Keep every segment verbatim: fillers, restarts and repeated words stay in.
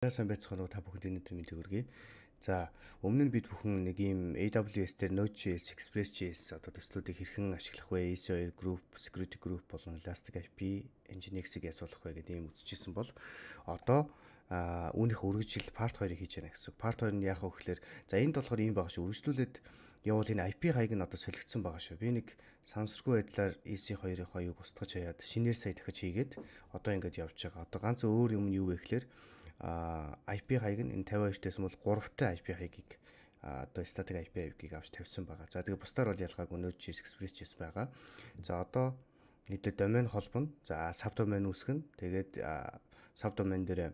Сайн байцгаана уу та бүхэнд өнөөдөр мэндийг хүргэе. За өмнө нь бид бүхэн нэг ийм A W S дээр Node.js, Express.js одоо төслүүдийг хэрхэн ашиглах вэ? E C two group, security group болон Elastic ай пи, Nginx-ийг ясуулах вэ гэдэг ийм үзчихсэн бол одоо үүнийх үргэлжил part two-ыг хийж яана гэсэн. Part two нь яах вэ гэхээр за энд болохоор ийм байгаа шүү. Үргэлжлүүлээд явуул энэ ай пи хаяг нь одоо солигдсон байгаа шүү. Би нэг сансаргүй байдлаар E C two-ийн хоёрыг устгаж хаяад шинээр сая дахиж хийгээд одоо ингэж явж байгаа. Одоо ганц өөр юм нь юу вэ гэхээр а ай пи хаяг нь энэ fifty-two дэсэн бол three тай ай пи хаягийг одоо static ай пи хаягийг авч тавьсан байгаа. За тэгээ бусдаар бол ялгаагүй Node.js, Express.js байгаа. За одоо нийлээ домен холбоно. За subdomain үүсгэн. Тэгээд subdomain дээр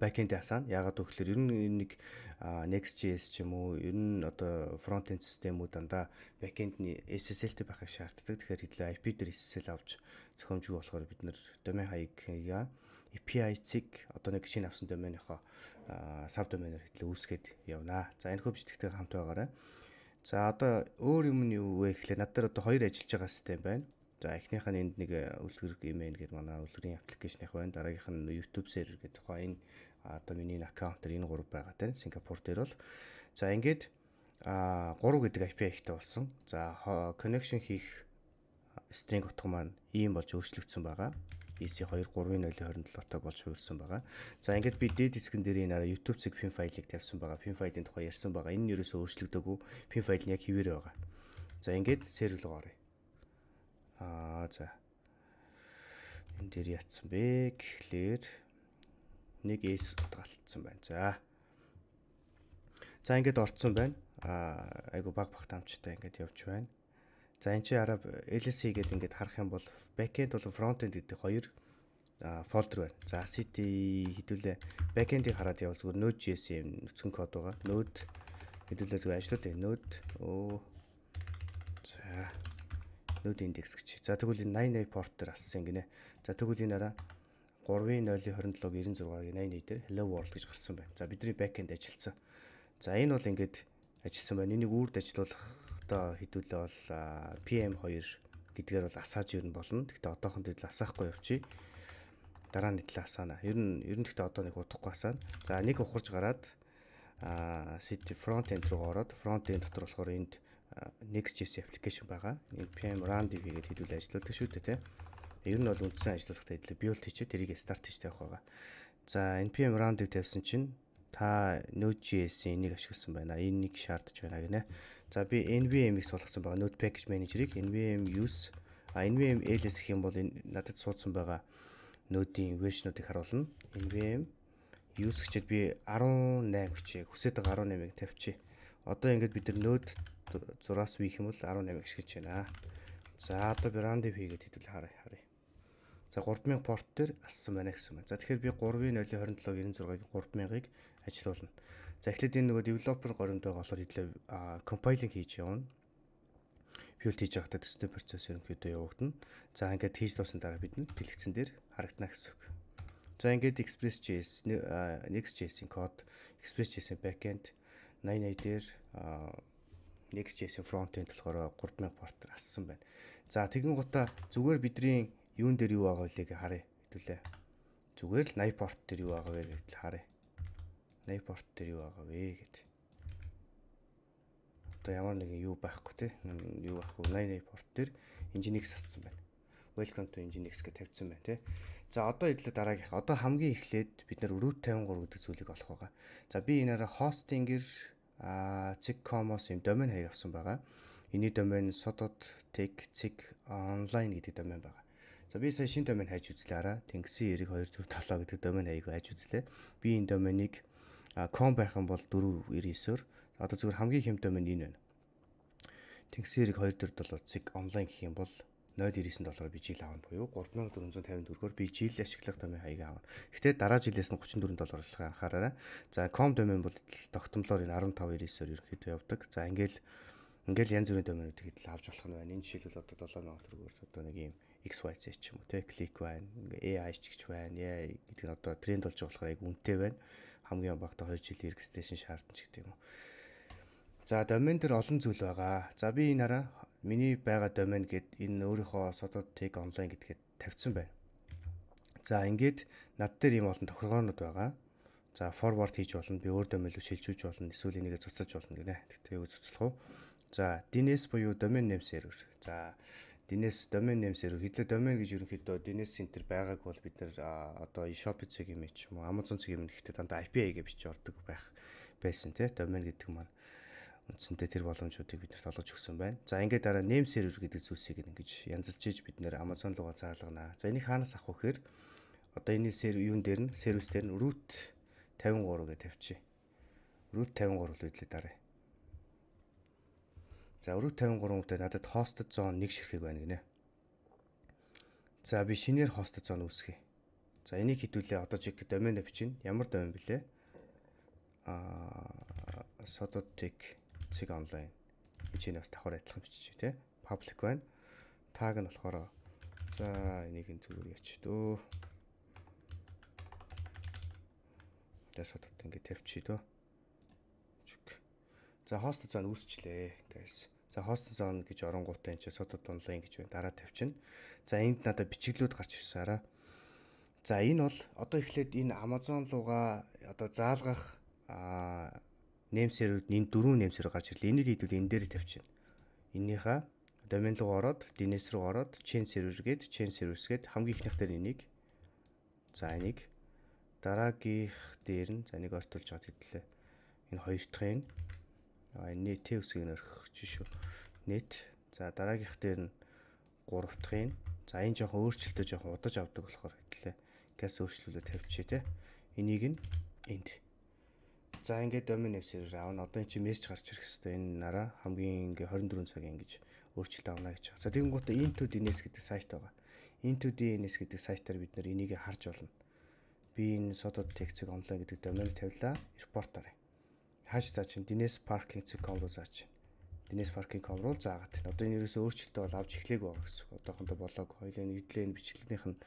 backend асаана. Яагаад гэвэл ер нь нэг Next.js ч юм уу ер нь одоо front-end системүүд дандаа backend-ний эс эс эл-тэй байхыг шаарддаг. Тэгэхээр хэдлээ ай пи дээр эс эс эл авч зохиомжгүй болохоор бид нэр домен хаягийг эй пи ай-цыг одоо нэг шинэ авсан доменийнхоо subdomain-аар хэдлээ үүсгээд явнаа. За энэ хөө бичигтэй хамт байгаарай. За одоо өөр юм нь юу вэ гэхлээр над дээр одоо хоёр ажиллаж байгаа систем байна. За эхнийх нь энд нэг үлгэр email гэдэг манай үлгэрийн аппликейшных байна. Дараагийнх нь YouTube server гэдэг тухай энэ одоо миний аккаунт дээр энэ гурав байгаа тань Сингапур дээр бол. За ингээд а three гэдэг ай пи ай-тай болсон. За connection хийх string утга маань ийм болж өөрчлөгдсөн байгаа. E C two three нуль twenty-seven тай болж хувирсан байгаа. За ингээд би дээд хэсгэн дээр энэ YouTube цэг pin файлыг тавьсан байгаа. Pin файлын тухай ярьсан байгаа. Энэ нь ерөөсөө өөрчлөгдөөгүй. Pin файл нь яг хэвээр байгаа. За ингээд server руу оръё. Аа за. Энэ дээр яатсан бэ гэхлээр нэг S утгаалтсан байна. За. За ингээд орцсон байна. Аа айгу баг баг тамчтай ингээд явж байна. За энэ чи арав эл эс си гэдэг ингээд харах юм бол backend болон frontend гэдэг хоёр фолдер байна. За city хэдүүлээ backend-ийг хараад явал зүгээр Node.js юм нүцгэн код байгаа. Node хэдүүлээ зүгээр ажиллаад байна. Node оо за Node index гэж. За тэгвэл энэ ninety-eight port дээр ассан гинэ. За тэгвэл энэ араа three нуль twenty-seven ninety-eight дээр hello world гэж гарсан байна. За бидний backend ажилласан. За энэ бол ингээд ажилласан байна. Энийг үрд ажиллуулах одоо хэдүүлээ бол пи эм two гэдгээр бол асааж ирнэ болно. Гэхдээ одоохон дээр асаахгүй явчих. Дараа нь тэл асаана. Ер нь ер нь гэхдээ одоо нэг удахгүй асаана. За нэг ухарж гараад а city front-end руу ороод front-end дотор болохоор энд Next.js application байгаа. Энэ pm run db гэдэг хэдүүлээ ажилладаг шүү дээ, тийм. Ер нь бол үндсэн ажиллуулгатай хэдлээ build хийчихэд тэрийг start хийж тавих байгаа. За npm run db тавьсан чинь та Node.js-ийн энийг ашигласан байна. Энийг шаардж байна гинэ. За би nvm-ийг суулгасан байгаа. Node package manager-ыг nvm use а nvm ls гэх юм бол энэ надад суудсан байгаа Node-ийн version-уудыг харуулна. nvm use гэчихэд би eighteen гэчээ. Хүсээд байгаа eighteen-ыг тавьчих. Одоо ингээд бид нар Node зураас вих юм бол eighteen-ыг ашиглаж байна. За одоо би run db хийгээд хэдүүл харъя харъя. За three thousand порт дээр ассан байна гэсэн байна. За тэгэхээр би three нуль twenty-seven ninety-six-ыг three thousand-ыг ажиллуулна. За эхлээд энэ нөгөө developer горимд байгаа болохоор хэдлээ compiling хийж явна. Build хийж байхдаа төстэй процесс ерөнхийдөө явагдана. За ингээд хийж дууссан дараа бид дэлгэцэн дээр харагдана гэсэн үг. За ингээд Express.js, Next.js-ийн код, Express.js-ийн backend ninety-eight дээр Next.js-ийн front-end болохоор three thousand порт дээр ассан байна. За тэгэн гутаа зүгээр бидний юун дээр юу байгаа вэ гэж харъя. Хэдүүлээ. Зүгээр л ninety порт дээр юу байгаа вэ гэдэл харъя. ninety порт дээр юу байгаа вэ гэд. Одоо ямар нэгэн юу байхгүй те. Юу байхгүй ninety-eight порт дээр Nginx ассан байна. Welcome to Nginx гэж тавьсан байна те. За одоо хэдлээ дараагийнх. Одоо хамгийн эхлээд бид нар root fifty-three гэдэг зүйлийг олох байгаа. За би энээрээ hosting-ээр cig.com-оос юм домен хаяг авсан байгаа. Эний домен sod.tech cig online гэдэг домен байгаа. За би сая шинэ домен хайж үзлээ араа. Тэнгисийн two four seven гэдэг домен хаяг хайж үзлээ. Би энэ доменыг com байх юм бол four ninety-nine-оор одоо зүгээр хамгийн хэм домен энэ байна. Тэнгисийн two four seven cig online гэх юм бол zero ninety-nine доллар би жил аавна буюу three thousand four hundred fifty-four-оор би жил ашиглах домен хаяг аавна. Гэхдээ дараа жилээс нь thirty-four доллар болохыг анхаараарай. За com домен бол тогтмолоор энэ fifteen ninety-nine-оор ерөнхийдөө явдаг. За ингээл ингээл янз бүрийн доменуудыг хэд л авч болох нь байна. Энэ жишээлбэл одоо seven thousand төгрөгөөр одоо нэг юм X Y Z ч юм уу те клик байна. A I ч гэж байна. Яа гэдэг нь одоо тренд болж байгаа болохоор яг үнэтэй байна. Хамгийн багтаа two жилийн registration шаардсан ч гэдэг юм уу. За домен дээр олон зүйл байгаа. За би энэ араа миний байгаа домен гэд энэ өөрийнхөө sod.tech online гэдгээд тавьсан байна. За ингээд над дээр ийм олон тохиргоонууд байгаа. За forward хийж болно. Би өөр домен руу шилжүүлж болно. Эсвэл энийгээ цуцаж болно гинэ. Тэгтээ юу цуцлах уу? За ди эн эс буюу domain name server. За ди эн эс domain name server хэдlээ domain гэж ерөнхийдөө ди эн эс center байгааг бол бид нэр одоо eShop цэгийн мэт ч юм уу Amazon цэгийн мэт гэхдээ дандаа ай пи ай гэж бичиж ордог байх байсан тий. Domain гэдэг маань үндсэндээ тэр боломжуудыг биднэрт олгож өгсөн байна. За ингээд дараа name server гэдэг зүйлсийг ингэж янзалж иж бид нэр Amazon руугаа заалгана. За энийг хаанаас авах вэ гэхээр одоо энэ сервер юун дээр нь сервис дээр нь root тавин гурав гэж тавьчих. root тавин гурав л үдлээ дараа. За root тавин гурав дээр надад hosted zone нэг ширхэг байна гинэ. За би шинээр hosted zone үүсгэе. За энийг хэдүүлээ одоо чиг домен авчин ямар домен блэ? Аа sodotech цэг онлайн. Энийг бас давхар адилхан бичиж тий. Public байна. Tag нь болохоор за энийг ин зүгээр яач дөө. Дэсотод ингэ тавьчих дөө. За hosted zone үүсчлээ guys. За hosted zone гэж оронгуудаа энэ sodot онлайн гэж байна. Дараа тавьчихна. За энд надад бичиглүүд гарч ирсэн араа. За энэ бол одоо эхлээд энэ Amazon руугаа одоо заалгах аа name server-д энэ дөрвөн name server гарч ирлээ. Энийг хэдүүл энэ дээр тавьчихна. Энийхээ domain руу ороод ди эн эс руу ороод chain server гээд chain servers гээд хамгийн ихнийх дээр энийг за энийг дараагийнх дээр нь за энийг ортуулж аваад хэдлээ. Энэ хоёр дахь нь а энэ нийтийн үсгийг нөрөх шүү. Нийт за дараагийнх дээр нь гурав дахь нь за энэ жоохон өөрчлөлтөө жоохон удаж авдаг болохоор хэдлээ. Газ өөрчлөлөө тавьчих те. Энийг нь энд. За ингээд domain name server аавна. Одоо эн чинь мессеж гарч ирэх хэвээр энэ нараа хамгийн ингээ хорин дөрвөн цагийн ингэж өөрчлөлт авна гэж. За тэгэн гутаа into ди эн эс гэдэг сайт байгаа. into ди эн эс гэдэг сайтаар бид нэр энийг харж болно. Би энэ sodotech цэг онлайн гэдэг домен тавилаа. Report арай. Хааш заа чинь ди эн эс parking цэг com руу заач. ди эн эс parking com руу заагаад. Одоо энэ ерөөсөө өөрчлөлтөө бол авч эхлэегүй байгаа гэсэн. Одоохондоо болоог хоёлын нийтлэн бичлэгнийх нь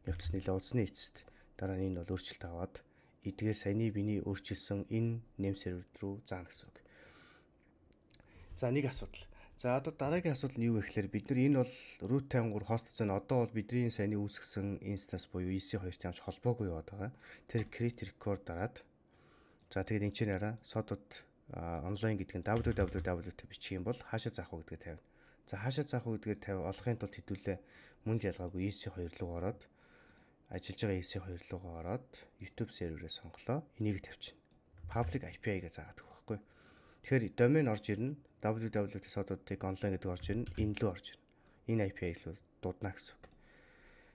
явц нэлээ удасны эцэст. Дараа нь энэ бол өөрчлөлт аваад эдгээр саяны биний өөрчилсөн энэ name server руу заана гэсэн үг. За нэг асуудал. За одоо дараагийн асуудал нь юу вэ гэхээр бид нар энэ бол root тавин гурав host зэн одоо бол бидний саяны үүсгэсэн instance буюу и си two-тэй хамт холбоогүй яваад байгаа. Тэр create record дараад за тэгээд энэ чинь араа sodot онлайн гэдэг нь www-тэй бичих юм бол хаашаа заах вэ гэдгээ тавина. За хаашаа заах вэ гэдгээ тавь олохын тулд хэдүүлээ мөн ялгаагүй и си two руу ороод ажиллаж байгаа и си two руугаа ороод YouTube серверээ сонголоо. Энийг тавьчихна. Public ай пи ай гэж заадаг байхгүй. Тэгэхээр домен орж ирнэ. www.sodotech online гэдэг орж ирнэ. Энэ лөө орж ирнэ. Энэ ай пи ай л дуудана гэсэн үг.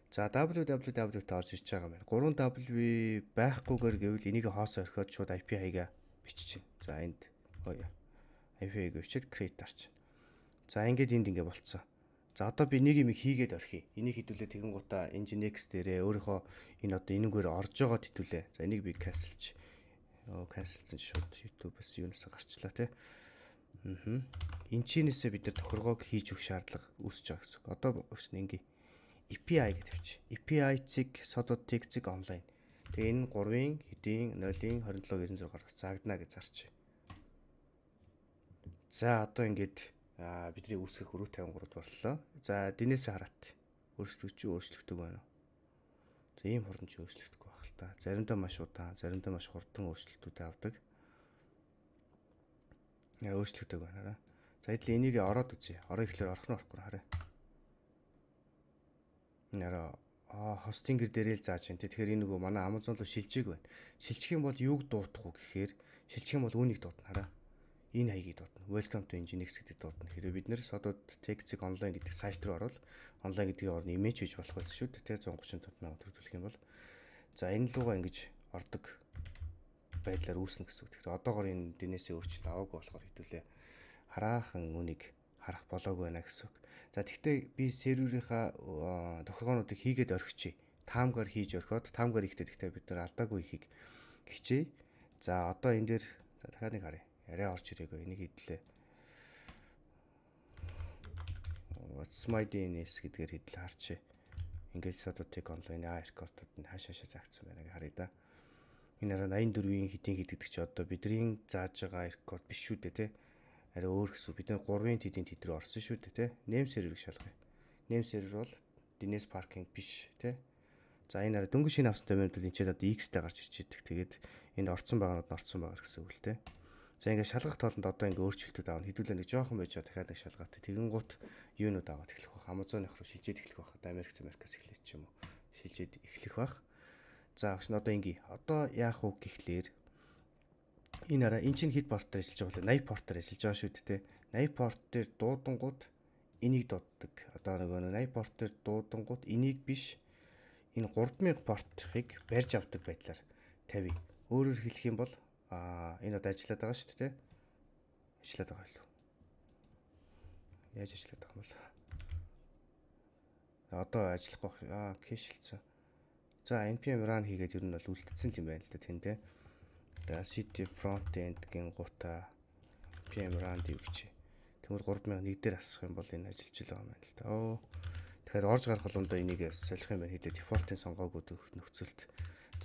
За www-т орж ирж байгаа юм байна. гурван W байхгүйгээр гэвэл энийг хоосоо орхиод шууд ай пи ай-га биччихнэ. За энд ай пи ай-г бичээд create дарчихна. За ингээд энд ингэ болцсон. За одоо би нэг юм хийгээд орхив. Энийг хэдүүлээ тэгэн гутаа Nginx дээрээ өөрийнхөө энэ одоо энэгээр орж байгаа хэдүүлээ. За энийг би cancelч. Оо cancelсэн шууд YouTube-с юунаас гарчлаа те. Аа. Энд чинээсээ бид нар тохиргоог хийж өгөх шаардлага үүсэж байгаа гэсэн. Одоо өөрснө ингээ эй пи ай гэж тавьчих. эй пи ай цэг sodotech цэг онлайн. Тэгээ энэ гурвын хэдийн нулын twenty-seven ninety-six-аар заагдана гэж зарчих. За одоо ингээд а бидний үүсгэх root тавин гурав боллоо. За дэнээсээ хараат. Өөрчлөгч өөрчлөгдөг байна уу? За ийм хурдан ч өөрчлөгдөхгүй байх л та. Заримдаа маш удаан, заримдаа маш хурдан өөрчлөлтүүд авдаг. Яа өөрчлөгдөг байна. За эдл энийг ороод үзье. Ороо ихлээр орох нь орохгүй хараа. Нэраа а хостингэр дээрээ л зааж байна. Тэгэхээр энэ нөгөө манай Amazon руу шилжээг байна. Шилжих юм бол юуг дуутах уу гэхээр шилжих юм бол үүнийг дуутна хараа. Энэ хаягийг дуудана. Welcome to Nginx гэдэг дуудана. Хэрэв бид нэр sodotech цэг онлайн гэдэг сайт руу орвол онлайн гэдгийг орно имиж хийж болох байсан шүү дээ. one thirty-five мянган төгрөглөх юм бол за энэ лугаа ингэж ордог байдлаар үүснэ гэсэн үг. Тэгэхээр одоогоор энэ ди эн эс-ийн өөрчлөлт аваагүй болохоор хэдүүлээ хараахан үнийг харах болоогүй байна гэсэн үг. За тэгвэл би серверийнхаа тохиргоонуудыг хийгээд орхичих. Таамгаар хийж орхиод таамгаар ихтэй тэгтээ бид нар алдаагүй ихийг хичээе. За одоо энэ дээр за дахиад нэг харъя. Арай орж ирээгүй энийг хэдлээ. What's my ди эн эс гэдгээр хэдлээ харчээ. Ингээд sodotech online а рекордууд нь хааш хаашаа заагдсан байна гэж харъя да. Энэ араа eighty-four-ийн хэдийн хэд гэдэг чи одоо бидний зааж байгаа рекорд биш шүү дээ те. Арай өөр гэсэн. Бид three-ын хэдийн тэд рүү орсон шүү дээ те. Name server-ыг шалгая. Name server бол ди эн эс parking биш те. За энэ араа дөнгөж шинэ авсан домен бол энэ ч одоо X-тэй гарч ирж идэг. Тэгээд энэ орцсон байгаанууд нь орцсон байгаа гэсэн үг л дээ. За ингээд шалгах тоолонд одоо ингээд өөрчлөлтүүд аавна. Хэдүүлээ нэг жоохон байж байгаа дахиад нэг шалгаатай. Тэгэн гут юунууд аваад эхлэх байх. Amazon-ых руу шилжээд эхлэх байх. Одоо Америк Америкаас эхлэх ч юм уу. Шилжээд эхлэх байх. За агш нь одоо ингээ. Одоо яах вэ гэхлээр энэ араа эн чинь хэд портоор ажиллаж байгаа вэ? eighty портоор ажиллаж байгаа шүү дээ. eighty порт дээр дуудангууд энийг дууддаг. Одоо нөгөө eighty порт дээр дуудангууд энийг биш энэ three thousand портыг барьж авдаг байдлаар тавь. Өөрөөр хэлэх юм бол аа энэ одоо ажиллаад байгаа шүү дээ. Ажиллаад байгаа юу? Яаж ажиллаад байгаа юм бол? Одоо ажиллахгүй аа кэшэлцэн. За npm run хийгээд ер нь бол үлдсэн юм байна л да тэндээ. За city front end гин гута npm run дивч. Тэгмэр three thousand one дээр асах юм бол энэ ажиллаж байгаа юм байна л да. Оо. Тэгэхээр орж гарах болгондоо энийг солих юм байна хэлээ. Default-ын сонгоогүй нөхцөлд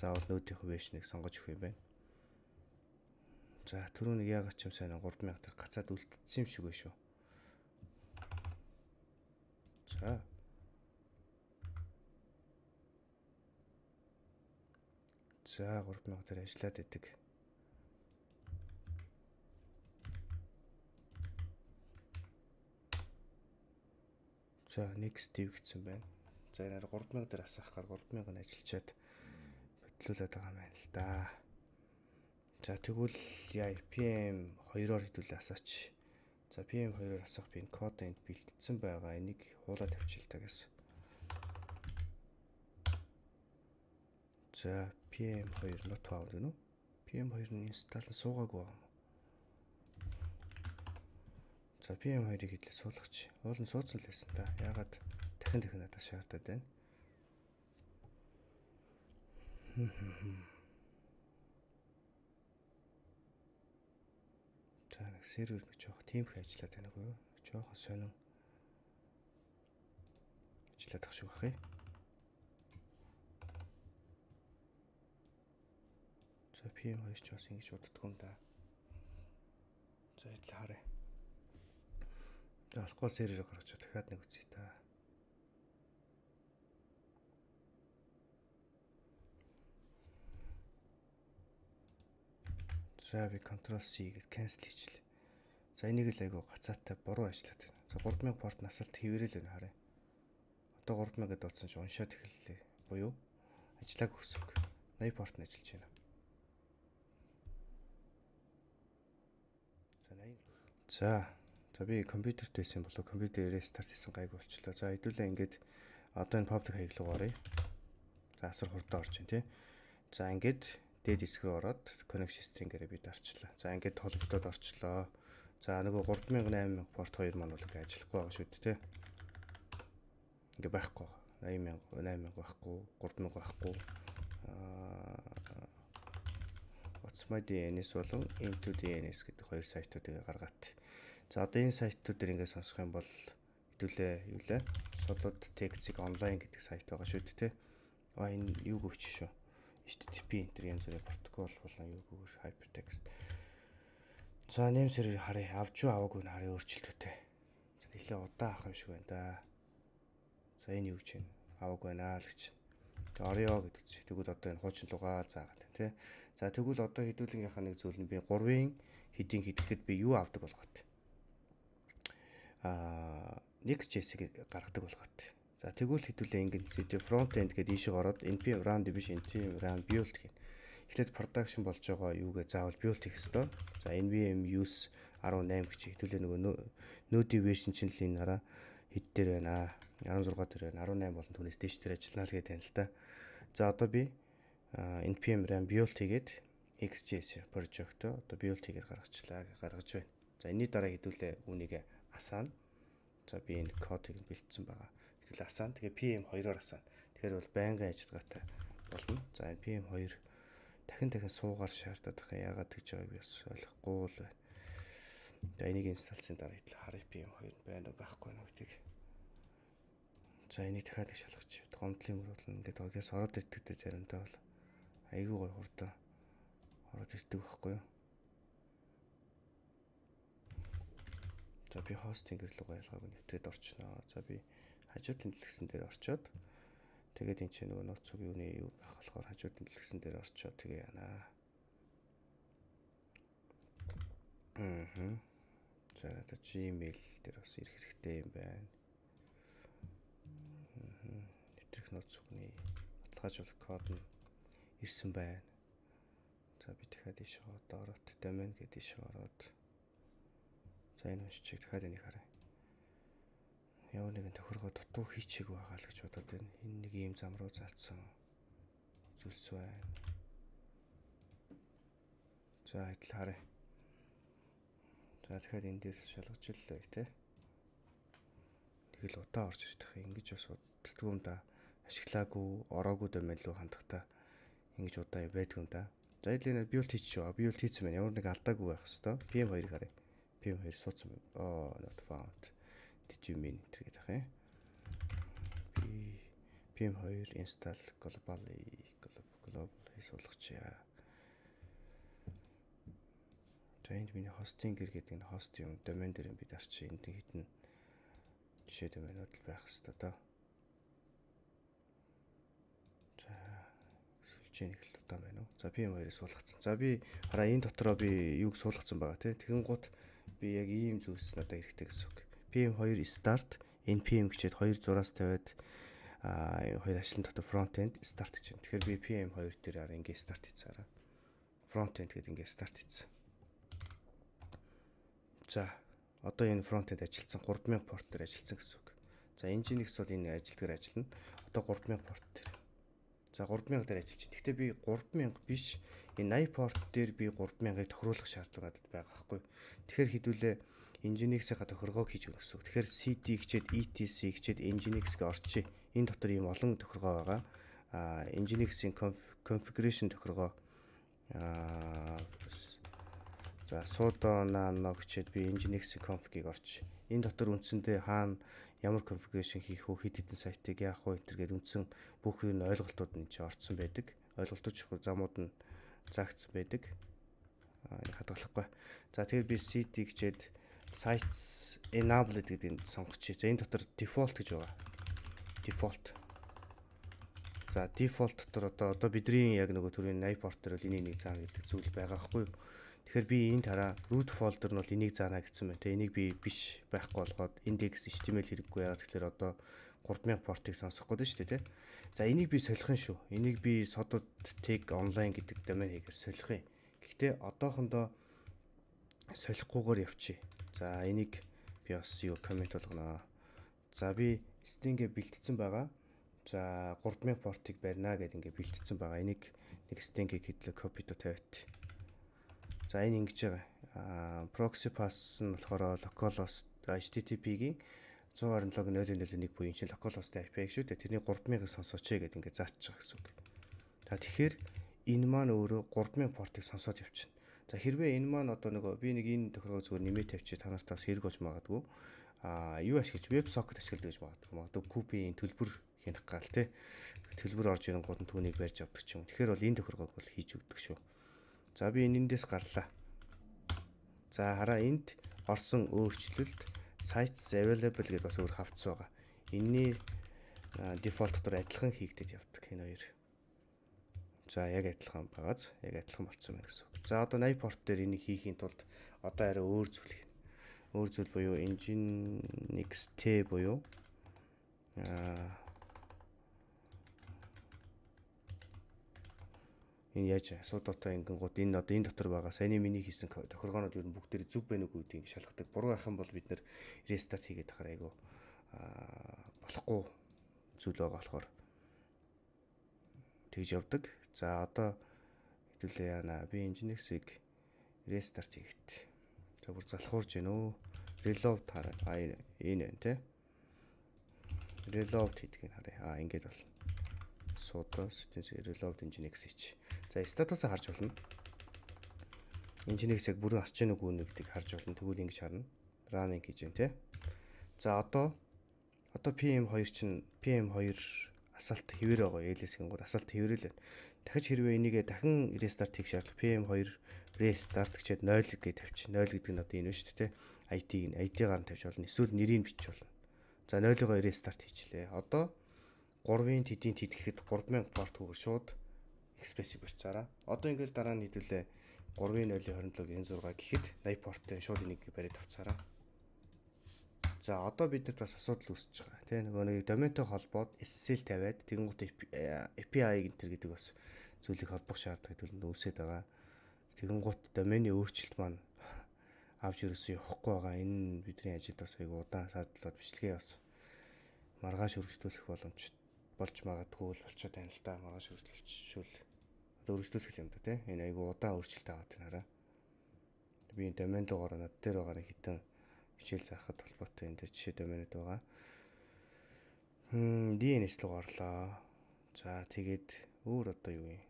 заавал нүүдийнх version-ыг сонгож өгөх юм байна. За түрүүнийг яагаад ч юм сайн three thousand дээр гацаад үлдсэн юм шиг байна шүү. За. За three thousand дээр ажиллаад идэг. За next div гэсэн байна. За энэ three thousand дээр асаахаар three thousand нь ажиллачаад бодлуулаад байгаа юм байна л да. За тэгвэл яа пи эм two-оор хэдүүлээ асаач. За пи эм two-оор асах би энэ код энд бэлтгэсэн байгаа. Энийг хуулаад тавьчих л та гэсэн. За пи эм two not found гэнэ үү? пи эм two-ны install нь суугаагүй юм. За пи эм two-ыг хэдлээ суулгач. Уул нь суудсан л байсан та. Яагаад дахин дахин надад шаардаад байна? За нэг сервер нэг жоох тиймх ажиллаад байна уу? Жохон сонин ажиллаад ах шиг бахыг. За пи эм two ч бас ингэж уддаг юм да. За идэл харъя. За болохгүй серверээ гаргаж дахиад нэг үзье та. За би control C гэж cancel хийчихлээ. За энийг л айгу гацаатай буруу ажиллаад байна. За three thousand порт насалт хэвээрэл байна харъя. Одоо three thousand гэдээ утсан чинь уншаад эхэллээ. Буюу ажиллааг өгсөн. eighty порт нь ажиллаж байна. За eighty. За за би компьютерт байсан болоо компьютер рестарт хийсэн гайг болчлоо. За хэдүүлээ ингээд одоо энэ public хаягл руу оръё. За асар хурдан орж байна тий. За ингээд дээд хэсэг рүү ороод connection string-ээрээ бид арчлаа. За ингээд толгодод орчлоо. За нөгөө three thousand eight thousand порт two маань бол ингээд ажиллахгүй байгаа шүү дээ тий. Ингээд байхгүй. eighty thousand eight thousand байхгүй, three thousand байхгүй. Аа What's my ди эн эс болон into ди эн эс гэдэг хоёр сайтуудыг гаргаад. За одоо энэ сайтууд дээр ингээд сонсох юм бол хэдүүлээ юу лээ? Sodot Text online гэдэг сайт байгаа шүү дээ тий. Аа энэ юу гүвч шүү. эйч ти ти пи энэ янз бүрийн протокол болон юу гүвэр hypertext. За нэм сервер харъя. Авч юу аваагүй нь харъя өөрчлөлттэй. За нэлээ удаан авах юм шиг байна да. За энэ юу гэж байна? Аваагүй байна л гэж. Тэг орё гэдэг чи. Тэгвэл одоо энэ хуучин лугаа заагаад байна тий. За тэгвэл одоо хэдүүлгийнхаа нэг зүйл нь би three-ын хэдийн хэдэхэд би юу авдаг болгоод. Аа Next.js-ийг гаргадаг болгоод. За тэгвэл хэдүүлээ ингээд front end гэдэг ийшээ ороод npm run division npm run build гэх. Эхлээд production болж байгаа юугээ заавал build хийх ёстой. За npm use eighteen гэж хэдүүлээ нөгөө node version чинь л энэ хараа хэд дээр байна аа sixteen дээр байна. eighteen болон түүнээс дээш дээр ажиллана л гэдэг юм л та. За одоо би npm run build хийгээд Next.js project одоо build хийгээд гаргачлаа гаргаж байна. За энэний дараа хэдүүлээ үүнийг асаана. За би энэ кодыг бэлдсэн байгаа. Хэдүүлээ асаана. Тэгээ пи эм two-оор асаана. Тэгэхээр бол байнгын ажиллагаатай болно. За энэ пи эм two дахин дахин суугаар шаардаад байгаа. Яагаад гэж байгааг би бас ойлгохгүй л байна. За энийг инсталлцсан дараа хэдэл харъя пи эм two байна уу байхгүй нь гэдгийг. За энийг дахиад их шалгаж. Гомдлын мөр бол ингээд огоос ороод ирдэгтэй заримдаа бол айгүй гой хурдан ороод ирдэг байхгүй юу? За би хостинг гэрлүүг ялгааг нэвтрээд орчихноо. За би хажуудын дэлгэсэн дээр орчоод тэгээд энэ чинь нөгөө нууц цуг юуны юу байх болохоор хажуудын дэлгэсэн дээр орчоод тэгээ яана. Аа. За одоо Gmail дээр бас ирэх хэрэгтэй юм байна. Аа. Нэвтрэх нууц бүхний баталгаажуулах код нь ирсэн байна. За би дахиад ийш ороод domain гэдэг ийш ороод за энэ уншчих дахиад энийг харъя. Ямар нэгэн тохиргоо дутуу хийчихээг байгаа л гэж бодоод байна. Энэ нэг ийм зам руу заацсан зүйлс байна. За идэл харъя. За тэгэхээр энэ дээрс шалгаж иллээ тий. Тэгэл удаа орж ирэх юм ингэж бас боддөг юм да. Ашиглаагүй, ороогүй domain руу хандахтаа ингэж удаа байдаг юм да. За эдгээр нь build хийчих жоо. Build хийсэн байна. Ямар нэг алдаагүй байх хэвээр. пи эм two-ыг харъя. пи эм two суудсан байна. Oh, not found. Did you mean гэдэг ахаа. пи эм two install globally global хийсуулгач. За энд миний хостинг гэдэг энэ хост юм домен дээр би дарчих энд хитэн жишээ доменууд л байх хэвээр доо. За сүлжээ нэг л удаа байна уу? За пи эм two-ыг суулгацсан. За би хараа энэ дотроо би юуг суулгацсан байгаа те. Тэгэн гут би яг ийм зүйлс надад хэрэгтэй гэсэн үг. пи эм two start npm гэчээд two зураас тавиад а хоёр ашлан дотор front end start гэж байна. Тэгэхээр би пи эм two дээр араа ингэ start хийцаараа. Front end гэдэг ингэ start хийцэн. За одоо энэ front end ажилласан three thousand порт дээр ажилласан гэсэн үг. За Nginx бол энэ ажилтгаар ажиллана. Одоо three thousand порт дээр. За three thousand дээр ажиллаж байна. Гэхдээ би three thousand биш энэ eighty порт дээр би three thousand-ыг тохируулах шаардлага надад байгаа байхгүй. Тэгэхээр хэдүүлээ Nginx-ийн тохиргоог хийж өгнө гэсэн үг. Тэгэхээр cd гэчээд etc гэчээд Nginx-г орчие. Энэ дотор ийм олон тохиргоо байгаа. А Nginx-ийн configuration тохиргоо а за sudo nano гэчээд би Nginx-ийн config-ийг орч. Энэ дотор үндсэндээ хаана ямар configuration хийх вэ, хэд хэдэн сайтыг яах вэ энэ гэдэг үндсэн бүх юм ойлголтууд нь чи орцсон байдаг. Ойлголтууд чих замууд нь заагдсан байдаг. Аа хадгалахгүй. За тэгээд би cd гэчээд sites enabled гэдгийг сонгочих. За энэ дотор default гэж байгаа. Default. За default дотор одоо одоо бидний яг нөгөө төрлийн eighty порт дээр бол энийг нэг заана гэдэг зүйл байгаа байхгүй юу? Тэгэхээр би энд хараа root folder нь бол энийг заана гэсэн байна. Тэ энийг би биш байхгүй болгоод index эйч ти эм эл хэрэггүй яагаад тэгэхээр одоо three thousand портыг сонсох гээд шүү дээ, тэ. За энийг би солих юм шүү. Энийг би sodod tag online гэдэг домен хийгээр солих юм. Гэхдээ одоохондоо солихгүйгээр явчих. За энийг би бас юу коммент болгоно. За би string-гээ бэлтгэсэн байгаа. За three thousand портыг барина гэдэг ингээ бэлтгэсэн байгаа. Энийг нэг string-ийг хэдлээ copy to тавьт. За энэ ингэж байгаа. Аа proxy pass нь болохоор localhost эйч ти ти пи-гийн one twenty-log zero zero one буюу энэ чинь localhost ай пи шүү дээ. Тэрний three thousand-ыг сонсооч гэдэг ингээ заачж байгаа гэсэн үг. За тэгэхээр энэ маань өөрөө three thousand портыг сонсоод явчихна. За хэрвээ энэ маань одоо нөгөө би нэг энэ тохиргоо зүгээр нэмээд тавьчих та нартаас хэрэг болж магадгүй. Аа юу ашиглаж WebSocket ашигладаг гэж магадгүй. Магадгүй купийн төлбөр хянах гал те. Төлбөр орж ирэн гол нь түүнийг барьж авдаг ч юм. Тэгэхээр бол энэ тохиргоог бол хийж өгдөг шүү. За би энэндээс гарлаа. За хараа энд орсон өөрчлөлт sites available гэдээ бас өөр хавцсан байгаа. Энэний дефолт дотор адилхан хийгдэж явдаг энэ хоёр. За яг адилхан байгааз яг адилхан болцсон байна гэсэн үг. За одоо eighty порт дээр энийг хийхийн тулд одоо арай өөр зүйл хийнэ. Өөр зүйл буюу Nginx T буюу аа энэ яаж асуудалтай ингэнгууд энэ одоо энэ дотор байгаа саяны миний хийсэн тохиргоонууд юу бүгдээр зүг байна уу гэдгийг шалгадаг. Буруу байх юм бол бид нэр рестарт хийгээд ахаар айгу болохгүй зүйл байгаа болохоор тэгж явдаг. За одоо хэдүүлээ яана би Nginx-ийг рестарт хийгээд. За бүр залхуурж гэнэ үү? Reload хараа. А энэ энэ тэ. Reload хийдгийг харъя. А ингэж бол sudo reload Nginx хийч. За статусаа харж болно. Nginx яг бүрэн асч гэнэ үгүй нэгдийг харж болно. Тэгвэл ингэж харна. Running хийж байна те. За одоо одоо пи эм two чинь пи эм two асаалт хэвээр байгаа. эл эс-ийн гол асаалт хэвээрэл байна. Дахиж хэрвээ энийгээ дахин restart хийх шаардлага пи эм two restart гэчээд zero гэж тавьчих. zero гэдэг нь одоо энэ шүү дээ те. ай ти-г ай ти-гаар нь тавьж болно. Эсвэл нэрийг бичих болно. За zero-ыг restart хийчлээ. Одоо three-ын тэдийн тэд гэхэд three thousand порт хүүгээр шууд Express-ийг барьцаараа. Одоо ингээл дараа нь хэдүүлээ three point zero twenty-seven ninety-six гэхэд eighty порт шууд энийг бариад авцаараа. За одоо бидэд бас асуудал үүсэж байгаа. Тэ нөгөө нэг доментой холбоод эс эс эл тавиад тэгэнгუთ эй пи ай гэнтэр гэдэг бас зүйлийг холбох шаардлагыг төлөнд үүсэж байгаа. Тэгэнгუთ доменийн өөрчлөлт маань авч ирсэн явахгүй байгаа. Энэ бидний ажилд бас айгу удаан садлаад бичлэгээ бас маргааш өргөжлүүлэх боломж болж магадгүй л болчиход байна л да. Маргааш өргөжлүүлчихвэл одоо өргөжлүүлэх юм да тий. Энэ айгу удаан өөрчлөлт аваад байна хараа. Би энэ домен дугаараа над дээр байгаараа хитэн хичээл заахад холбоотой энэ дээр жишээ доменууд байгаа. Хм ди эн эс руу гарлаа. За тэгээд өөр одоо юу юм?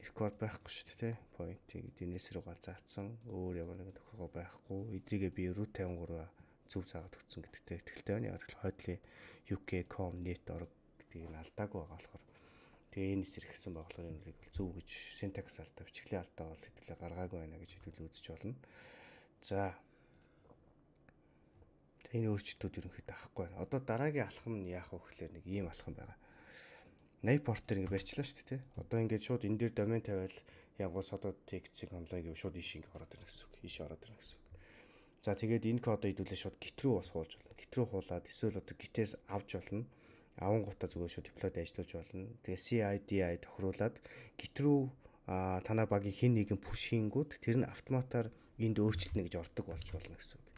Рекорд байхгүй шүү дээ, point-ийг ди эн эс руугаа заацсан. Өөр ямар нэгэн тохиолгоо байхгүй. Эдрийгээ би root fifty-three зөв заагаад өгсөн гэдэгтэй итгэлтэй байна. Яг л хойдлын ю кей точка ком net org гэдгийг нь алдаагүй байгаа болохоор тэгээ энэ эсрэг гэсэн байгаа болохоор энэ үрийг зөв гэж syntax алдаа, бичгийн алдаа бол хэдүүлээ гаргаагүй байна гэж хэдүүл үзэж болно. За энэ өөрчлөлтүүд ерөнхийдөө авахгүй байна. Одоо дараагийн алхам нь яах вэ гэхээр нэг ийм алхам байгаа. eighty порт дээр ингэ барьчлаа шүү дээ тий. Одоо ингээд шууд энэ дээр домен тавиал ягуус одоо text-ийг онлайн гэв шууд ийш ингэ ороод ирнэ гэсэн үг. Ийш ороод ирнэ гэсэн үг. За тэгээд энэ кодоо хэдүүлээ шууд git рүү бас хуулж болно. Git рүү хуулаад эсвэл одоо git-ээс авч болно. Авангуудаа зүгээр шууд deploy-д ажиллуулж болно. Тэгээ си ай ди ай тохируулаад git рүү танаа багийн хин нэгэн push-ингүүд тэр нь автоматар энд өөрчлөлтнө гэж ордог болж болно гэсэн үг.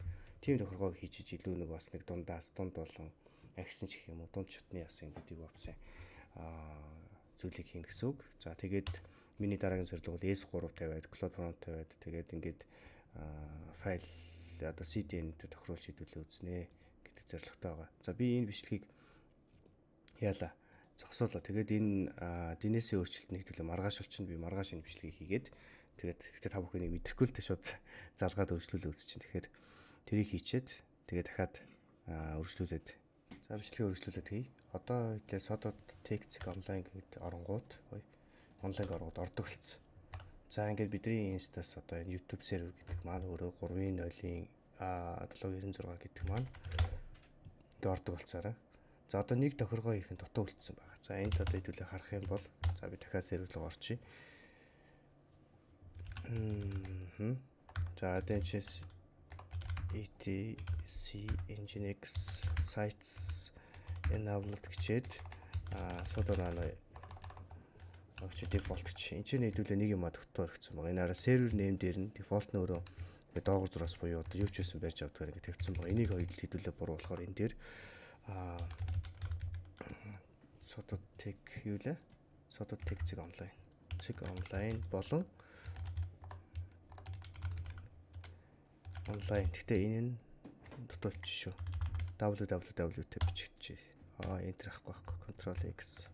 Тийм тохиолгоо хийж иж илүү нэг бас нэг дундаас дунд болон агсан ч гэх юм уу дунд чатны ясан гэдэг бовсон аа зүйлийг хийн гэсэн үг. За тэгээд миний дараагийн зорилго бол эс three тавиад cloud front тавиад тэгээд ингээд файл одоо си ди эн-тэй тохируулж шийдвэрлээ үзнэ гэдэг зорилготой байгаа. За би энэ бичлэгийг яалаа зогсоолоо. Тэгээд энэ ди эн эс-ийн өөрчлөлтөнд хэдүүлээ маргааш болчихно. Би маргааш энэ бичлэгийг хийгээд тэгээд гэхдээ та бүхэнийг мэдрэхгүй л тэ шууд залгаад өөрчлөлөө үзэж чинь. Тэгэхээр тэрийг хийчихэд тэгээд дахиад өргөжлүүлээд за бичлэгээ өргөжлүүлээд хий. Одоо хэлээ содод text online гэдэг оронгууд онлайн оронгууд ордог болсон. За ингээд бидний инстаас одоо энэ YouTube сервер гэдэг маань өөрөө three point zero-ийн seven ninety-six гэдэг маань ингээд ордог болцоорой. За одоо нэг тохиргоо их нь дутуу үлдсэн байгаа. За энд одоо хэдүүлээ харах юм бол за би дахиад сервер руу орчих. Мм. За дээнчээс etc nginx sites enabled гэчээд а содор аа огч дефолт чи энэ ч нэдүүлээ нэг юм а дутуу орчихсон байгаа. Энэ араа сервер нэм дээр нь дефолт нь өөрөө доогуур зураас буюу одоо юу ч байсан барьж авдгаар ингэ тавьчихсан байгаа. Энийг хоёул хэдүүлээ буруу болохоор энэ дээр а содод тег юу лээ? Содод тег зэг онлайн. Зэг онлайн болон онлайн. Гэхдээ энэ нь дутуу ч шүү. www-тэй бичигдчихэ. Аа enter ахгүй байхгүй. Control X.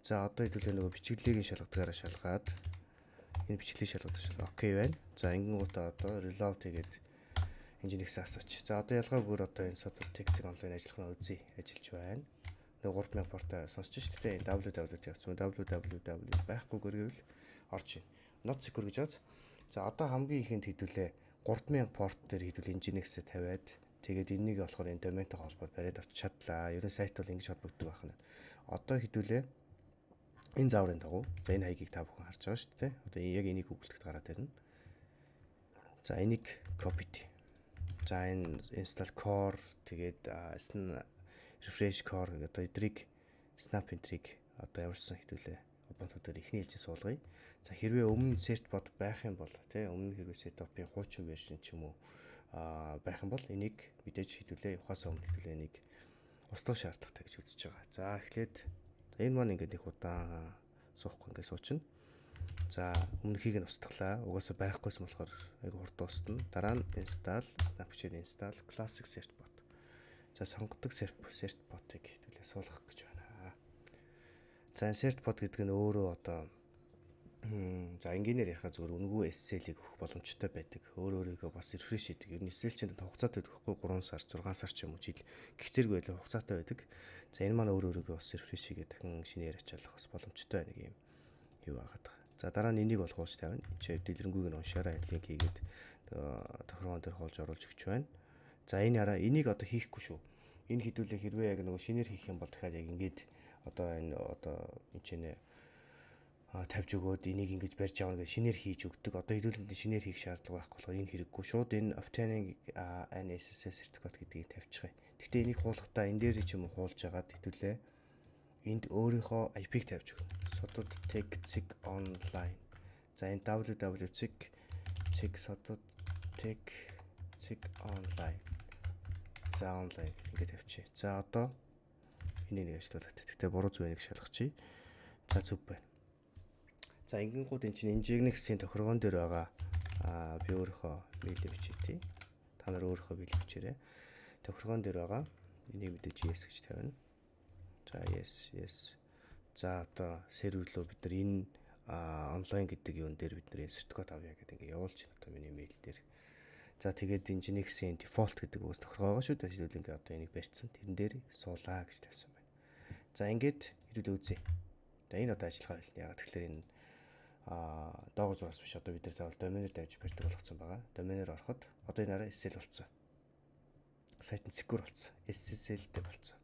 За одоо хэдүүлээ нөгөө бичиглэгийн шалгадгаараа шалгаад энэ бичиглэлийн шалгадгаар шалгаа окей байна. За ингэнгүүтээ одоо reload хийгээд nginx асууч. За одоо ялгаагүй одоо энэ содод text-ийг онлайн ажиллах нь үзье. Ажиллаж байна. Нөгөө three thousand порт сонсч шүү дээ. Энэ www явуулсан. www байхгүйгээр гэвэл орж ийн. Not secure гэж бааз. За одоо хамгийн ихэнд хэдүүлээ three thousand порт дээр хэдүүл nginx-ээ тавиад тэгээд энэнийг болохоор энэ доментой холбоод бариад авч чадлаа. Ерөн сайт бол ингэж холбогддог байна. Одоо хэдүүлээ энэ зааврын дагуу за энэ хаягийг та бүхэн харж байгаа шүү дээ. Одоо яг энийг Google-д гараад ирнэ. За энийг copy. За энэ install core тэгээд refresh core гэдэг одоо эдрийг snap энтрийг одоо ямарсан хэдүүлээ Ubuntu дээр ихний хэлжээ суулгая. За хэрвээ өмнө certbot байх юм бол тий өмнө хэрвээ setup-ийн хуучин вершн ч юм уу а байх юм бол энийг мэдээж хэдүүлээ ухаас өмнө хэдүүлээ энийг устгах шаардлагатай гэж үзэж байгаа. За эхлээд энэ маань ингээд их удаан суухгүй ингээд суучна. За өмнөхийг нь устгалаа. Угаасаа байхгүйсэн болохоор айгу хурд дуусна. Дараа нь install, snapchat install, classic certbot. За сонгодог certbot-ыг хэдүүлээ суулгах гэж байна. За certbot гэдэг нь өөрөө одоо за энгийнээр ярихаа зөвөр үнэгүй эс эс эл-ийг өгөх боломжтой байдаг. Өөр өөрийгөө бас refresh хийдэг. Ер нь эс эс эл чинь хугацаатай байхгүй three сар, six сар ч юм уу жил гих зэрэг байлаа хугацаатай байдаг. За энэ маань өөр өөрийгөө бас refresh хийгээд дахин шинээр ачаалах бас боломжтой нэг юм юу байгаад байгаа. За дараа нь энийг бол хуулж тавина. Энд чи дэлгэрэнгүйг нь уншаарай, линк хийгээд тохиргоон дээр хуулж оруулж өгч байна. За энэ хараа энийг одоо хийхгүй шүү. Энэ хэдүүлээ хэрвээ яг нөгөө шинээр хийх юм бол дахиад яг ингээд одоо энэ одоо энэ ч нэ тавьж өгөөд энийг ингэж барьж авна гэж шинээр хийж өгдөг. Одоо хэдүүлэнд шинээр хийх шаардлага байхгүй болохоор энэ хэрэггүй. Шууд энэ obtaining an эс эс эс certificate гэдгийг тавьчихъя. Гэхдээ энийг хуулахдаа энэ дээр ч юм уу хуулж агаад хэдүүлээ энд өөрийнхөө ай пи-г тавьж өгнө. Sodot tech zig online. За энэ www zig zig sodot tech zig online. За онлайн ингэ тавьчих. За одоо энийг нэг ажиллуулах. Тэгтээ буруу зүг нэг шалгачих. За зүг байна. За ингэнгууд эн чинь Nginx-ийн тохиргоон дээр байгаа аа би өөрийнхөө мэйлээ бичээ. Та нар өөрийнхөө мэйл бичээрэй. Тохиргоон дээр байгаа. Энийг мэдээж yes гэж тавина. За yes yes. За одоо сервер рүү бид нар энэ онлайн гэдэг юун дээр бид нар сертификат авъя гэдэг ингээ явуулж байна. Одоо миний мэйл дээр. За тэгээд Nginx-ийн default гэдэг үгс тохиргоо байгаа шүү дээ. Хэдүүл ингээ одоо энийг барьцсан. Тэрэн дээр суулаа гэж тавьсан байна. За ингээд хэдүүл үзье. За энэ одоо ажиллагаа хэлнэ. Ягаад тэгэхээр энэ а доогоор зураас биш одоо бид нар заавал доменер тавьж барьдаг болгоцсон байгаа. Доменер ороход одоо энэ араа эс эл болцсон. Сайт нь secure болцсон. эс эс эл-тэй болцсон.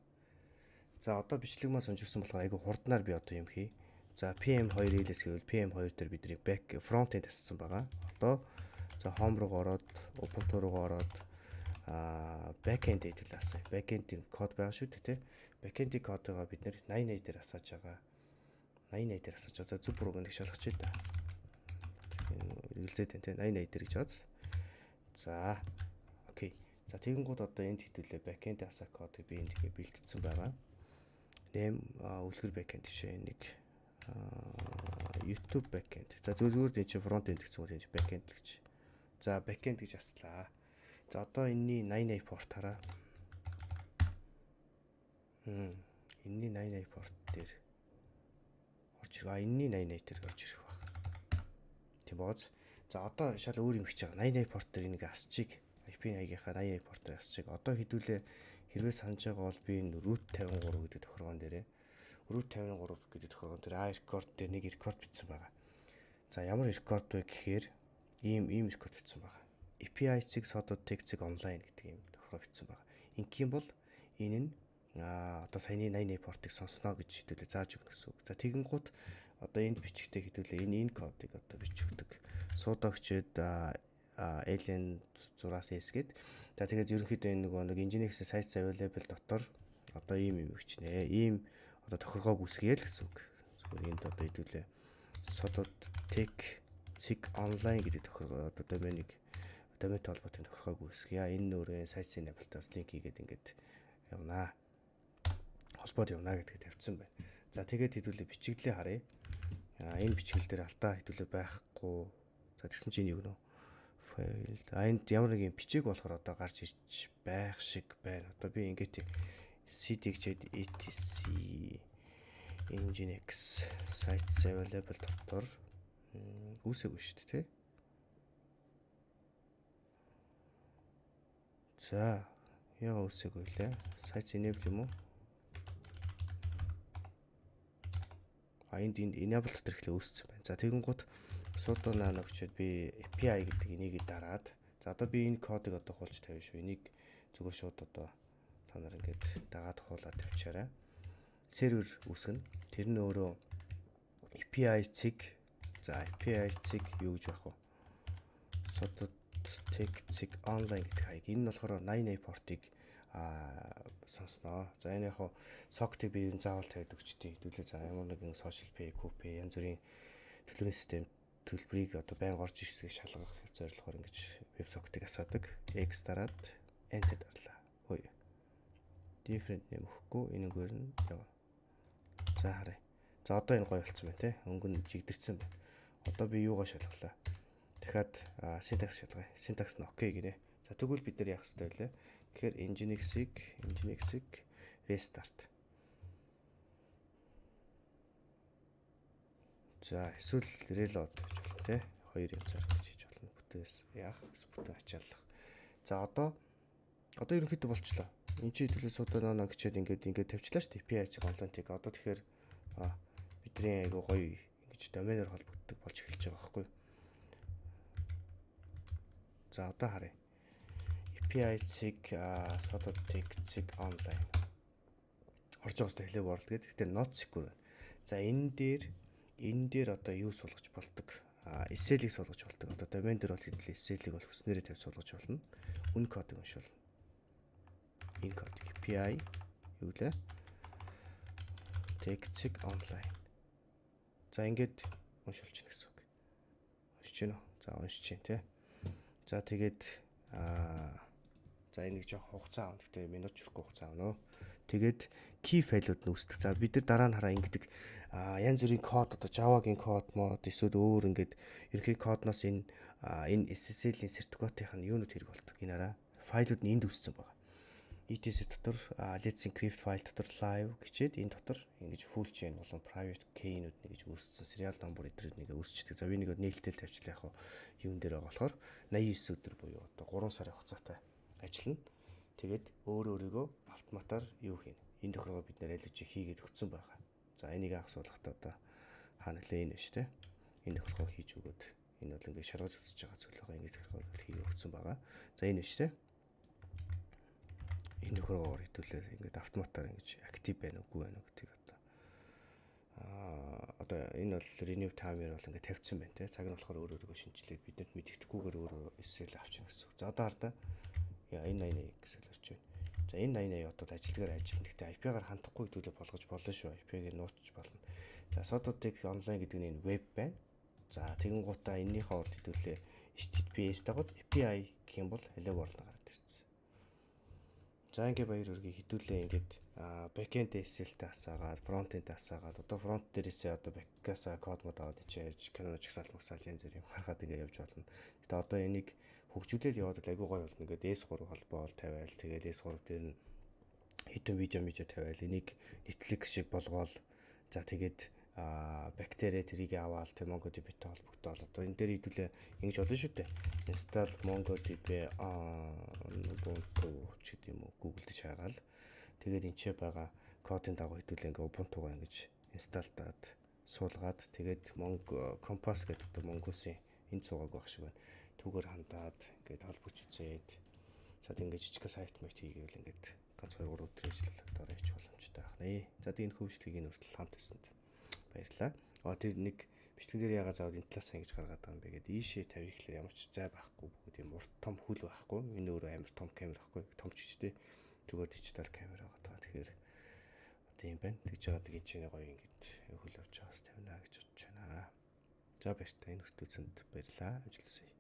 За одоо бичлэг маань сонжирсан болохоор айгүй хурднаар би одоо юм хий. За пи эм two эл эс гэвэл пи эм two дээр бидний back front end ассан байгаа. Одоо за home руу ороод Ubuntu руу ороод а back end дээр асаа. Back end-ийн код байгаа шүү дээ, тэ. Back end-ийн кодыг бид нэр найн eight дээр асааж байгаа. найн eight дээр асууж байгаа. Зүг бурууг нэг шалгах чий та. Эргэлзээд байна те. найн eight дээр гэж байгаа. За. Окей. За тэгэнгүүт одоо энд хитүүлээ backend асаа кодыг би энд тэгээ бэлтгэсэн байгаа. Нэм үлгэр backend жишээ нэг YouTube backend. За зүгээр зүгээр энэ front end гэсэн үг энэ backend л гэж. За backend гэж аслаа. За одоо энэний найн eight port хараа. Хм. Энэний найн eight port дээр А энэний найн eight дээр орж ирэх баг. Тийм бооз. За одоо шал өөр юм хийж байгаа. найн eight порт дээр энийг асчиг ай пи eight-ийнхаа найн eight порт дээр асчиг. Одоо хэдүүлээ хэрвээ санаж байгаа бол би энэ root fifty-three гэдэг тохиргоон дээрээ root fifty-three гэдэг тохиргоон дээр а record дээр нэг record бичсэн байгаа. За ямар record вэ гэхээр ийм ийм record бичсэн байгаа. эй пи ай zig sodot tech zig online гэдэг ийм тохиргоо бичсэн байгаа. Ингийн бол энэ нь а одоо саяны найн eight портыг сонсноо гэж хэдүүлээ зааж өгнө гэсэн үг. За тэгэнгუთ одоо энд бичгтээ хэдүүлээ энэ энэ кодыг одоо бичигдэг. Суудагчд alien зураас s гээд за тэгээд ерөнхийдөө энэ нөгөө нэг Nginx sites available дотор одоо ийм юм бичнэ. Ийм одоо тохиргоог үсгэе л гэсэн үг. Зүгээр энд одоо хэдүүлээ sodot tech zig online гэдэг тохиргоо одоо доменыг доментэй холбоотой тохиргоог үсгэе. Энэ нөрөө site-ийн enable-таас линк хийгээд ингээд явнаа. Холбоод явна гэдгийг тавьсан байна. За тэгээд хэдүүлээ бичиглээ харъя. А энэ бичгэл дээр алдаа хэдүүлээ байхгүй. За тэгсэн чинь юу гэнэ? Файл. А энд ямар нэг юм бичиг болохоор одоо гарч ирж байх шиг байна. Одоо би ингээд cd гэчээд etc Nginx sites available дотор үүсэгүй шүү дээ, тэ. За яа үүсэгүй лээ. Sites enable юм уу? Энд энд enable дотор ихлэ үүссэн байна. За тэгэнгუთ sudo nano гэчээд би эй пи ай гэдэг энийг дараад за одоо би энэ кодыг одоо хуулж тавина шүү. Энийг зүгээр шууд одоо та нар ингээд дагаад хуулаад тавьчаарай. Сервер үүсгэнэ. Тэр нь өөрөө эй пи ай zig за эй пи ай zig юу гэж байх вэ? Sodot tech zig online гэдэг хаяг. Энэ нь болохоор найн eight портыг а сонсноо. За энэ яг socket-ыг би заавал тавьд өгчтий. Хэдүүлээ за ямар нэгэн social pay, copy янз бүрийн төлбөрийн систем төлбөрийг одоо байнга орж ирсгийг шалгах зорилгоор ингэж веб socket-ыг асаадаг. X дараад enter дарлаа. Хөөе. Different name өгөхгүй энэгээр нь яваа. За харъя. За одоо энэ гоё болцсон байна те. Өнгө нь жигдэрсэн байна. Одоо би юугаа шалгалаа. Дахиад syntax шалгая. Syntax нь окей гинэ. За тэгвэл бид нар яах хэрэгтэй вэ? Тэгэхээр Nginx-ийг Nginx-ийг restart. За эсвэл reload гэж болно те. Хоёр янзаар гэж хийж болно. Бүтээс яах? Бүтээ ачааллах. За одоо одоо ерөнхийдөө болчлоо. Энд чи төлөө sudo nano гэчээд ингээд ингээд тавьчлаа шүү дээ. эй пи ай zig online-ыг одоо тэгэхээр бидний айгу гоё ингэж доменоор холбогддог болж эхэлж байгаа байхгүй юу? За одоо харъя. эй пи ай zig sodot tech zig online орж байгаас хэлээ world гэдэг. Гэхдээ not secure байна. За энэ дээр энэ дээр одоо юу суулгаж болдог? А эс эл-ийг суулгаж болдог. Одоо домен дээр бол хэдүүлээ эс эл-ийг бол хүснээрээ тавь суулгаж болно. Үн кодыг уншуулна. Энэ код эй пи ай юу лээ? Textig online. За ингээд уншуулж гин гэсэн үг. Уншиж гин үү? За уншиж гин тий. За тэгээд аа за энийг жоох хугацаа авна. Гэтэ минут чөрөхгүй хугацаа авна. Тэгээд key file-ууд нь үүсдэг. За бид нар дараа нь хараа ингэдэг а янз бүрийн код одоо Java-гийн код мод эсвэл өөр ингээд ерхий кодноос энэ энэ эс эс эл-ийн сертификатынх нь юунууд хэрэг болдог. Энэ хараа файлууд нь энд үүссэн байгаа. и ти эс дотор let's encrypt файл дотор live гэчээд энэ дотор ингэж full chain болон private key-нүүд нэг гэж үүссэн serial number эдрүүд нэг үүсчихдээ. За би нэг нээлттэй тавьчлаа яг юун дээр байгаа болохоор восемьдесят девять өдөр буюу одоо гурван сарын хугацаатай ажиллана. Тэгээд өөр өөрийгөө автоматар юу хийнэ. Энэ тохиолгоо бид нэр аль чи хийгээд өгсөн байгаа. За энийг анх суулгахдаа одоо хаана лээ энэ шүү дээ. Энэ тохиолгоо хийж өгөөд энэ бол ингээд шалгаж үзэж байгаа зүйл байгаа. Ингээд тохиолгоо хийгээд өгсөн байгаа. За энэ шүү дээ. Энэ тохиолгоор хэдүүлээ ингээд автоматар ингэж актив байна уу, үгүй байна уу гэдгийг одоо аа одоо энэ бол renew timer бол ингээд тавьсан байна те. Цаг нь болохоор өөр өөрийгөө шинжилээд бидэнд мэддэхгүйгээр өөрөө эс эл авчихна гэсэн үг. За одоо хардаа яа энэ восемьдесят девять гэсэн л орж байна. За энэ восемьдесят девять одоо ажилтгаар ажиллана. Гэхдээ ай пи-гаар хандахгүй хэдүүлээ болгож болно шүү. ай пи-г нууцч болно. За содуудыг онлайн гэдэг нь энэ веб байна. За тэгэн гутаа энэнийхээ урд хэдүүлээ эйч ти ти пи эс дагаж эй пи ай гэх юм бол hello world гараад ирсэн. За ингээ баяр хүргэе хэдүүлээ ингээд backend эс эл-тэй асаагаад frontend-тэй асаагаад одоо front дээрээсээ одоо back-гаасаа код мод аваад ичээж Canon чагсаалт магсаал янз бүр юм гаргаад ингээ явж болно. Гэтэ одоо энийг хөгжүүлэл яваад л айгуу гоё болно. Ингээд эс три холбоо бол тавиал тэгээд эс три дээр нь хитэн видео видео тавиал энийг Netflix шиг болгоол. За тэгээд а бактериа тэрийг аваад тэг MongoDB-тэй холбогдоод одоо энэ дээр хэдүүлээ ингэж болно шүү дээ. Install MongoDB аа Ubuntu ч гэдэг юм уу Google дээр шаагаал. Тэгээд энэ ч байгаа кодын дагуу хэдүүлээ ингээ Ubuntu-га ингэж install даад суулгаад тэгээд Mongo Compass гэдэг одоо Mongoose-ийн энэ цугааг байх шиг байна. Түүгээр хандаад ингээд холбогч үзээд за ингээд жижиг сайт мэт хийгээл ингээд ганц хоёр гурав өдөр ажиллах дараа ич боломжтой байна. За тэгээд энэ хөвчлөгийг энэ хүртэл хамт хийсэнд баярлалаа. Аа тэр нэг бичлэг дээр ягаа заавал энэ талаас ингэж гаргаад байгаа юм бэ гэдэг ийшээ тавих гэхэлэр ямар ч зай байхгүй бүгд юм урт том хүл байхгүй. Энэ өөрөө амар том камер байхгүй. Том ч гэжтэй зүгээр дижитал камер байгаа таа. Тэгэхээр одоо юм байна. Тэгж байгаа нэг энэ гоё ингэж хөл авч байгаас тавина гэж бодож байна. За баяртай энэ хүртэл үзсэнд баярлалаа. Амжилт хүсье.